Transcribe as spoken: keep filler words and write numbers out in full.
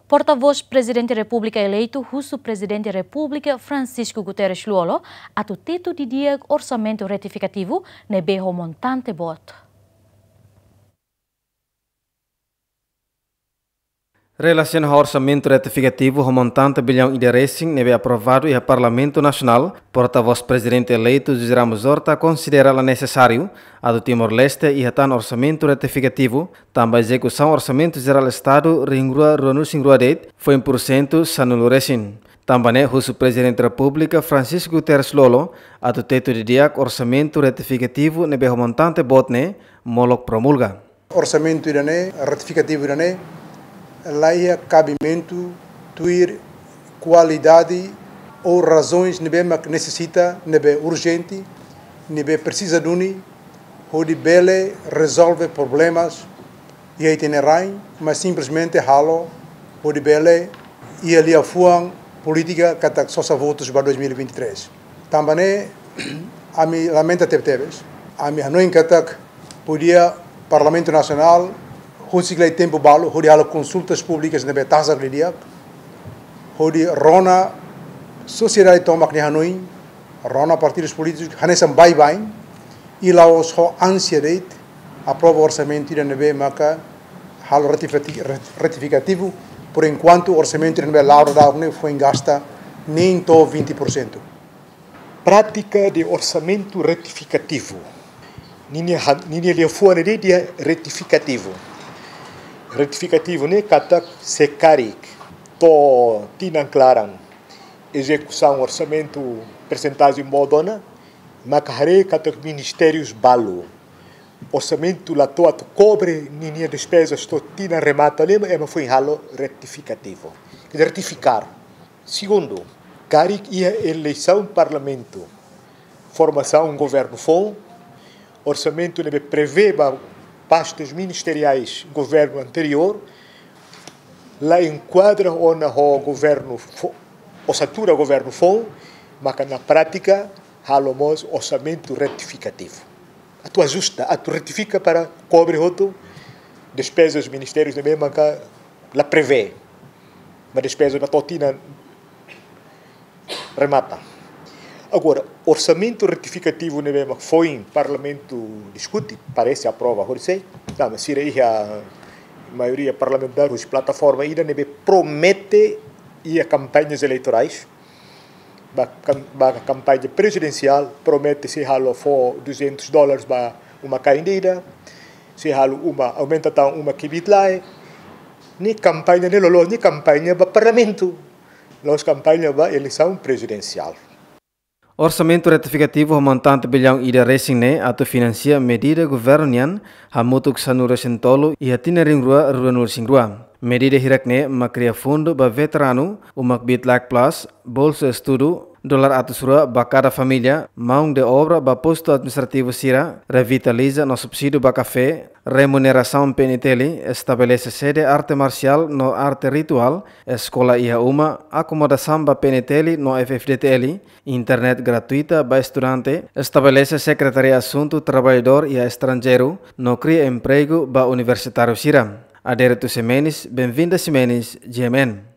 Portavós Prezidente Repúblika eleitu husu Prezidente Repúblika Francisco Guterres Lú-Olo atu tetu didi'ak orsamentu retifikativu ne'ebé ho montante boot. Relasiona ho orsamentu retifikativu ho montante billaun ida resin ne'ebé aprovadu iha Parlamentu Nasionál, Portavós Prezidente eleitu José Ramos Horta konsidera la nesesáriu atu Timor-Leste iha tan orsamentu retifikativu, tanba ezekusaun Orsamentu Jerál Estadu rihun rua ruanulu-resin-rua de'it foin pursentu sanulu resin. Tanba ne'e husu Prezidente Repúblika Francisco Guterres Lú-Olo atu tetu didi'ak orsamentu retifikativu ne'ebé ho montante boot ne'e molok promulga. Orsamentu ida-ne'e, retifikativu ida-ne'e, la iha kabimentu tuir kualidade ou razoens ne'ebé mak nesesita, ne'ebé urjente, ne'ebé presiza duni, hodi bele rezolve problemas iha ita-nia rain, mas simplesmente halo hodi bele iha liafuan polítika katak sosa votus ba dois mil e vinte e três. Tanba ne'e, ami lamenta tebetebes. Ami hanoin katak podia Parlamentu Nasionál husik lai tempu balu hodi halo konsultas públikas ne'ebé tasak didi'ak, hodi rona sosiedade tomak nia hanoin, rona partidus polítikus, hanesan baibain, i la'ós ho ánsia de'it aprova orsamentu ida ne'ebé maka halo retifati-, ret-, retifikativu. Por enkuantu, orsamentu ida ne'ebé la'o daudaun ne'e foin gasta nein to'o vinte por cento. Prátika de orsamentu retifikativu. Ninia ha-, ninia liafuan ne'e dehan retifikativu. Retifikativu ne'e katak se karik to'o tinan klaran ezekusaun orsamentu persentajen boot ona, maka haree katak ministérius balu orsamentu la to'o atu kobre ninia despezas to'o tinan remata ne'e, ema foin halo retifikativu. Quer dizer, retifikar. Segundu, karik iha eleisaun parlamentu, formasaun governu foun, orsamentu ne'ebé prevee ba pastas ministeriais governu anteriór, la enkuadra ona ho governu fo-, osatura governu foun, maka na prátika halo mós orsamentu retifikativu. Atu ajusta, atu retifika para kobre hotu despezas ministérius ne'ebé maka la prevee. Mas despezas ba to'o tinan remata. Agora, orsamentu retifikativu ne'ebé mak foin parlamentu diskute, parese aprova horisehik, tanba sira iha maioria parlamentár husi plataforma ida ne'ebé promete iha kampañas eleitorais, ba kam-, ba kampaña prezidensiál, promete sei halo fó duzentus dólares ba uma-kain ida, sei halo uma, aumenta tan uma kbiit lae. Ne'e kampaña ne'e loloos, ne'e kampaña ba parlamentu. La'ós kampaña ba eleisaun prezidensiál. Orsamentu retifikativu ho montante billaun ida resin ne'e atu finansia medida governu nian hamutuk sanulu resin tolu iha tinan rihun rua ruanulu resin rua. Medida hirak ne'e mak kria fundu ba veteranu, uma kbiit lae plus, bolsa estudu, dolar atus rua ba kada família, maun de obra ba postu administrativu sira, revitaliza no subsídiu ba kafé, remunerasaun P N T L, estabelese sede arte marsiál no arte rituál, eskola iha uma, akomodasaun ba P N T L no F F D T L, internet gratuita ba estudante, estabelese Sekretaria Asuntu Traballadór iha Estranjeiru, no kria empregu ba universitáriu sira. Adérito Ximenes, Benvinda Ximenes, G M N.